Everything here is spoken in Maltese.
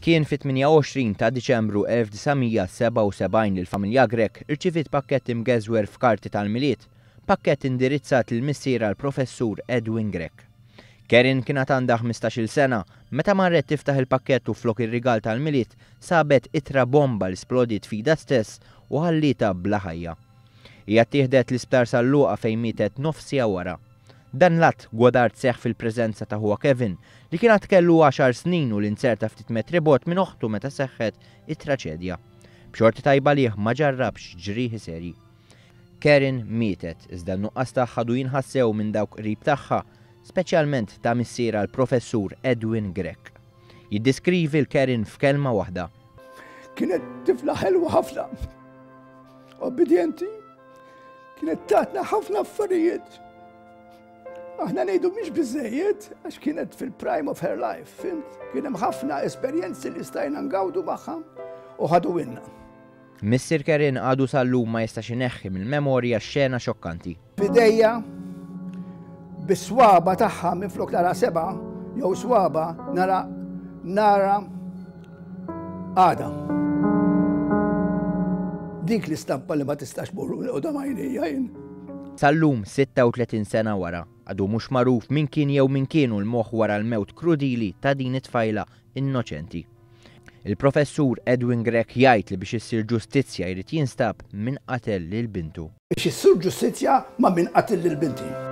Kien fit-28 ta' Diċembru 1977 li l-familja Grech irċiviet pakkett imgeżwer f'karti tal-Milied, pakkett indirizzat lil missierha l-Professur Edwin Grech. Karen kien għad għandha ħmistax-il sena meta marret tiftaħ il-pakkett u flok ir-rigal tal-Milied sabet ittra bomba li splodiet f'idha stess u ħallietha bla ħajja. Hija ttieħdet l-Isptar San Luqa fejn mietet nofs siegħa wara. Dan l-att godard seħħ fil-preżenza ta' ħuha Kevin, li kien għad kellu għaxar snin u li nzerta ftit metri bogħod minn oħtu meta seħħet it-traċedja. B'xorti tajba għalih ma ġarrabx ġrieħi serji. Karen mietet, iżda n-nuqqas tagħha għadu jinħass sew minn dawk qrib tagħha, speċjalment ta' missierha l-Professur Edwin Grech. Jiddeskrivi 'l Karen f'kelma waħda. Kienet tifla ħelwa ħafna, obbedjenti, Kienet tatna ħafna affarijiet. Aħna ngħidu mhix biżejjed għax kienet fil-prime of her life, fimt? Kien hemm ħafna esperjenzi li stajna ngawdu magħha u ħadu inna. Missier Kerin għadu sal-lum ma jistax ineħħi mill-memorja x-xena xokkanti. F'idejja bis-swaba tagħha minflok nara seba' jew swaba nara nara għada. Dik l-istampa li ma tistax morru qudam għajnejja jien. Sal-lum, 36 sena wara, għadu mhux magħruf min kien jew min kienu l-moħħ wara l-mewt krudili ta' din it-tfajla innoċenti. Il-Professur Edwin Grech jgħid li biex issir ġustizzja jrid jinstab min qatel lil bintu. Biex issir ġustizzja ma' min qatel lil binti.